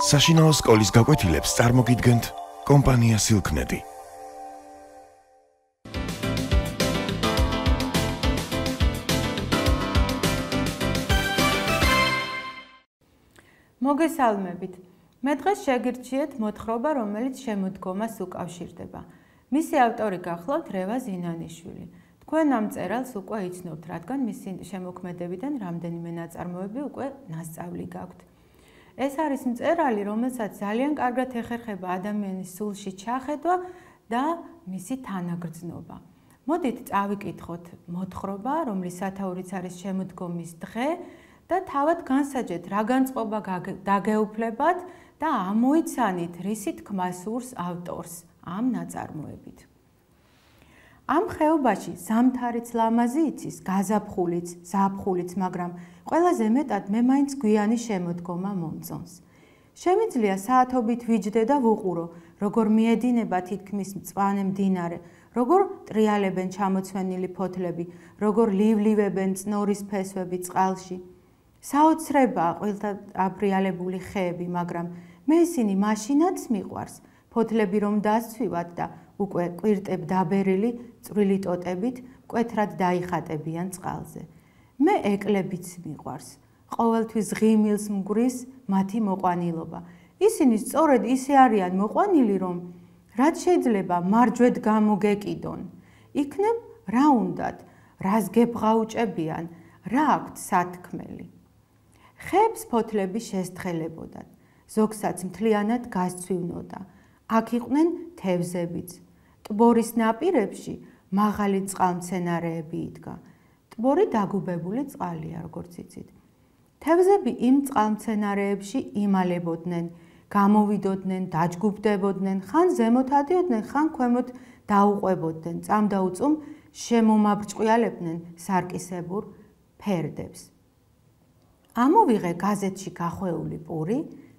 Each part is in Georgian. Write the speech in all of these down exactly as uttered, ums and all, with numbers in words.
საშინაო სკოლის გაკვეთილებს წარმოგიდგენთ კომპანია სილკნედი. მოგესალმებით. მე დღეს შეგირჩიეთ მოთხრობა, რომელიც შემოდგომას უკავშირდება. მისი ავტორი გახლავთ რევა ზინანიშვილი. თქვენ ამ წერილს უკვე იცნობთ, რადგან მისი შემოქმედებიდან რამდენიმე ნაწარმოები უკვე ნასწავლი გაქვთ. ეს არის მწერალი, რომელსაც ძალიან კარგად ეხერხება ადამიანის სულში ჩახედვა და მისი თანაგრძნობა. მოდით წავიკითხოთ მოთხრობა, რომლის სათაურიც არის შემოდგომის დღე და თავად განსაჯეთ, რა განწყობა დაგეუფლებათ და ამოიცანით, რისი თქმა სურს ავტორს ამ ნაწარმოებით. ამ ხეობაში ზამთარიც ლამაზი იცის, გაზაფხულიც, ზაფხულიც, მაგრამ ყველაზე მეტად მე მაინც გვიანი შემოდგომა მომწონს. შემიძლია საათობით ვიჯდე და ვუყურო, როგორ მიედინება თითქმის მწვანე მდინარე, როგორ ტრიალებენ ჩამოცვენილი ფოთლები, როგორ ლივლივებენ წნორის ფესვები წყალში. საოცრებაა ყველთა აბრიალებული ხეები, მაგრამ მე ისინი მაშინაც მიყვარს, ფოთლები რომ დასცვივად და უკვე კვირტებ დაბერილი წვრილი ტოტებით მკვეთრად დაიხატებიან წყალზე. მე ეკლებიც მიყვარს, ყოველთვის ღიმილს მგვრის მათი მოყვანილობა. ისინი სწორედ ისე არიან მოყვანილი, რომ რაც შეიძლება მარჯვედ გამოგეკიდონ. იქნებ რა უნდათ, რას გებღაუჭებიან, რა აქვთ სათქმელი. ხეებს ფოთლები შესთხელებოდათ, ზოგსაც მთლიანად გასცვივნოდა. აქ იყვნენ თევზებიც. ტბორის ნაპირებში მაღალი წყალმცენარეები იდგა. ტბორი დაგუბებული წყალია, როგორც იცით. თევზები იმ წყალმცენარეებში იმალებოდნენ, გამოვიდოდნენ, დაჯგუფდებოდნენ, ხან ზემოთ ადიოდნენ, ხან ქვემოთ დაუყვებოდნენ, წამდაუწუმ შემომაბრჭყვიალებდნენ სარკისებურ ფერდებს. ამოვიღე გაზეთში გახვეული პური,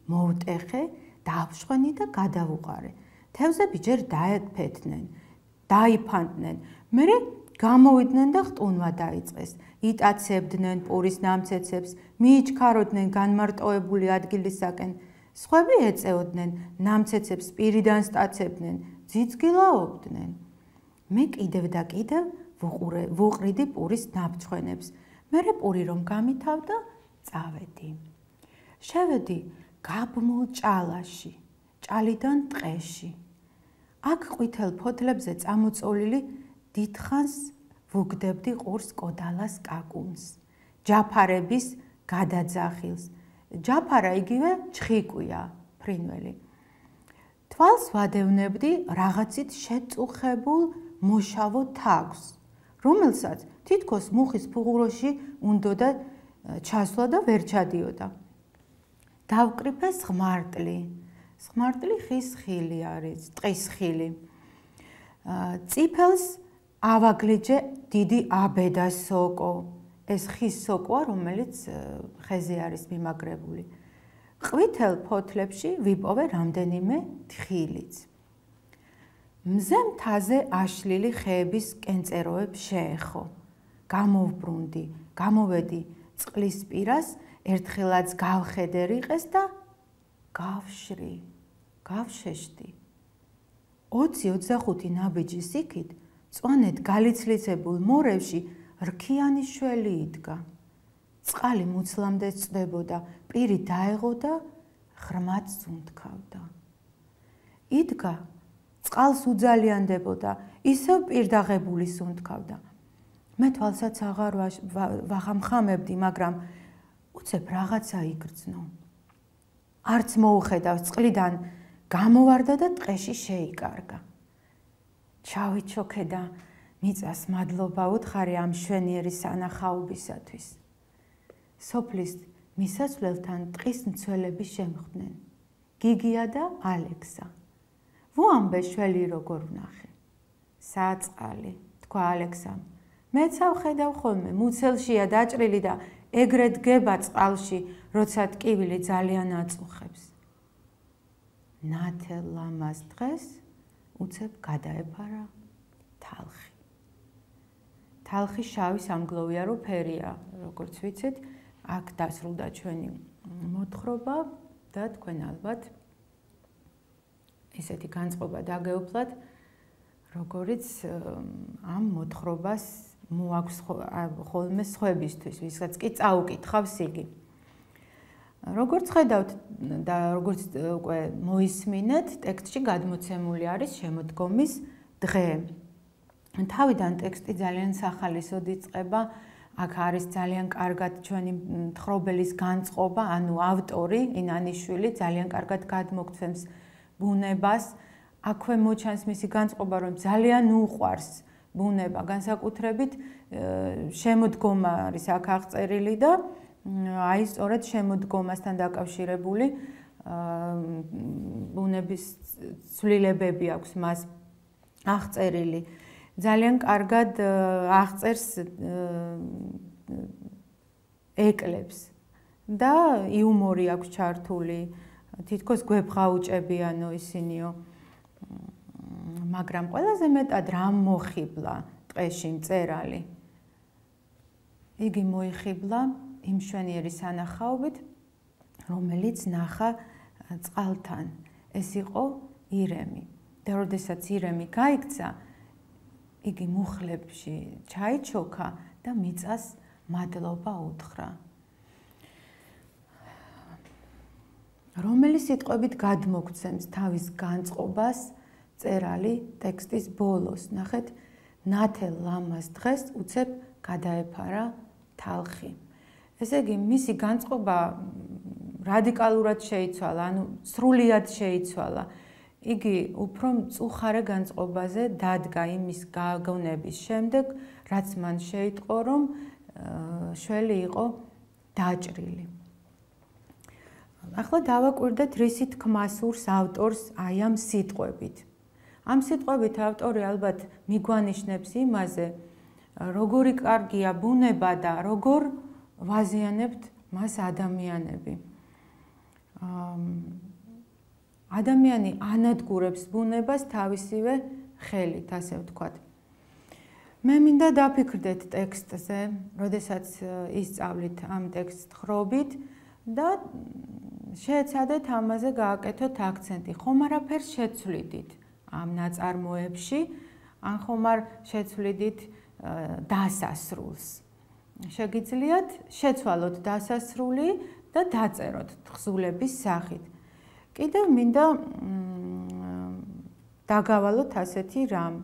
მოვტეხე, დავშვენი და გადავუყარე. თევზები ჯერ დაეფეთნენ, დაიფანტნენ, მერე გამოვიდნენ და ხტუნვა დაიწყეს. იტაცებდნენ პურის ნამცეცებს, მიიჩქაროდნენ განმარტოვებული ადგილისაკენ. სხვები ეწეოდნენ, ნამცეცებს პირიდან სტაცებდნენ, ძიძგილაობდნენ. მე კიდევ და კიდევ ვუყრიდი პურის ნაბჩხვენებს. მერე პური რომ გამითავდა, წავედი. შევედი გაბმულ ჭალაში, ჭალიდან ტყეში. აქ ყვითელ ფოთლებზე წამოწოლილი დიდხანს ვუგდებდი ყურს კოდალას კაკუნს, ჯაფარების გადაძახილს. ჯაფარა იგივე ჩხიკვია, ფრინველი. თვალს ვადევნებდი რაღაცით შეწუხებულ მოშავო თაგვს, რომელსაც თითქოს მუხის ფუღუროში უნდოდა ჩასვლა და ვერ ჩადიოდა. დავკრიფე სღმარტლი. სღმარტლი ხის ხილი არის, ტყის ხილი. წიფელს ავაგლიჯე დიდი აბედა სოკო. ეს ხის სოკოა, რომელიც ხეზე არის მიმაგრებული. ყვითელ ფოთლებში ვიპოვე რამდენიმე თხილიც. მზე მთაზე აშლილი ხეების კენწეროებს შეეხო. გამოვბრუნდი, გამოვედი წყლის პირას, ერთხელაც გავხედე რიყეს და გავშრი, გავშეშდი. ოცი ოცდახუთი ნაბიჯის იქით, წვანეთ გაlicლიცებულ მორევში რქიანი შველი იდგა. წყალი მუცლამდე წვდებოდა, პირი დაეღო და ღრმად სუნთქავდა. იდგა, წყალს უძალიანდებოდა, ისევ პირდაღებული სუნთქავდა. მე თვალსაც აღარ ვაღამხამებდი, მაგრამ უცებ რაღაცა იგრძნო. არც მოუხედავს, წყლიდან გამოვარდა და ტყეში შეიკარგა. ჩავიჩოქე და მიწას მადლობა უთხარი ამ მშვენიერი სანახაობისათვის. სოფლის მისასვლელთან ტყის მცველები შემხვდნენ. გიგია და ალექსა. ვუამბე შველი როგორ ვნახე. საწყალი, თქვა ალექსამ. მეც ავხედავ ხოლმე, მუცელშია დაჭრილი და ეგრეთ გება წყალში, როცა ტკივილი ძალიან აწუხებს. ნათელ ლამაზ დღეს უცებ გადაეფარა თალხი. თალხი შავი სამგლოვიარო ფერია, როგორც ვიცით, აქ დასრულდა ჩვენი მოთხრობა და თქვენ ალბათ ესეთი განწყობა დაგეუფლათ, როგორიც ამ მოთხრობას მოაქვს ხოლმე სხვებისთვის, ვისაც კი წაუკითხავს იგი. როგორც ხედავთ და როგორც უკვე მოისმინეთ, ტექსტში გადმოცემული არის შემოდგომის დღე. თავიდან ტექსტი ძალიან სახალისოდ იწყება, აქ არის ძალიან კარგად ჩვენი მთხრობელის განწყობა, ანუ ავტორი ინანიშვილი ძალიან კარგად გადმოგცემს ბუნებას. აქვე მოჩანს მისი განწყობა, რომ ძალიან უყვარს ბუნება, განსაკუთრებით შემოდგომა არის აქ აღწერილი და აი სწორედ შემოდგომასთან დაკავშირებული ბუნების ცვლილებები აქვს მას აღწერილი. ძალიან კარგად აღწერს ეკლებს და იუმორი აქვს ჩართული, თითქოს გვებღაუჭებიანო ისინიო. მაგრამ ყველაზე მეტად რამ მოხიბლა ტყეში მწერალი? იგი მოიხიბლა იმ მშვენიერი სანახაობით, რომელიც ნახა წყალთან. ეს იყო ირემი. და როდესაც ირემი გაიქცა, იგი მუხლებში ჩაიჩოქა და მიწას მადლობა უთხრა. რომელი სიტყვებით გადმოგცემს თავის განწყობას მწერალი ტექსტის ბოლოს? ნახეთ, ნათელ ლამაზ დღეს უცებ გადაეფარა თალხი. ესე იგი, მისი განწყობა რადიკალურად შეიცვალა, ანუ სრულიად შეიცვალა. იგი უფრო მწუხარე განწყობაზე დადგა იმის გაგონების შემდეგ, რაც მან შეიტყო, რომ შველი იყო დაჭრილი. ახლა დავაკვირდეთ, რისი თქმა სურს ავტორს აი ამ სიტყვებით. ამ სიტყვებით ავტორი ალბათ მიგვანიშნებს იმაზე, როგორი კარგია ბუნება და როგორ ვაზიანებთ მას ადამიანები. ადამიანი ანადგურებს ბუნებას თავისივე ხელით, ასე ვთქვათ. მე მინდა დაფიქრდეთ ტექსტზე, როდესაც ისწავლით ამ ტექსტს ხრობით და შეეცადეთ ამაზე გააკეთოთ აქცენტი. ხომ არაფერს შეცვლიდით ამ ნაწარმოებში, ან ხომ არ შეცვლიდით დასასრულს. შეგიძლიათ შეცვალოთ დასასრული და დაწეროთ თხზულების სახით. კიდევ მინდა დაგავალოთ ასეთი რამ.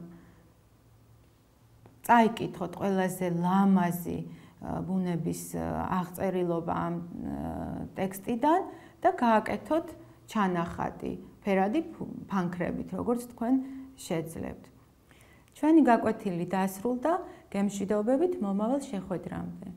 წაიკითხოთ ყველაზე ლამაზი ბუნების აღწერილობა ამ ტექსტიდან და გააკეთოთ ჩანახატი ფერადი ფანქრებით, როგორც თქვენ შეძლებთ. ჩვენი გაკვეთილი დასრულდა, გემშვიდობებით მომავალ შეხვედრამდე.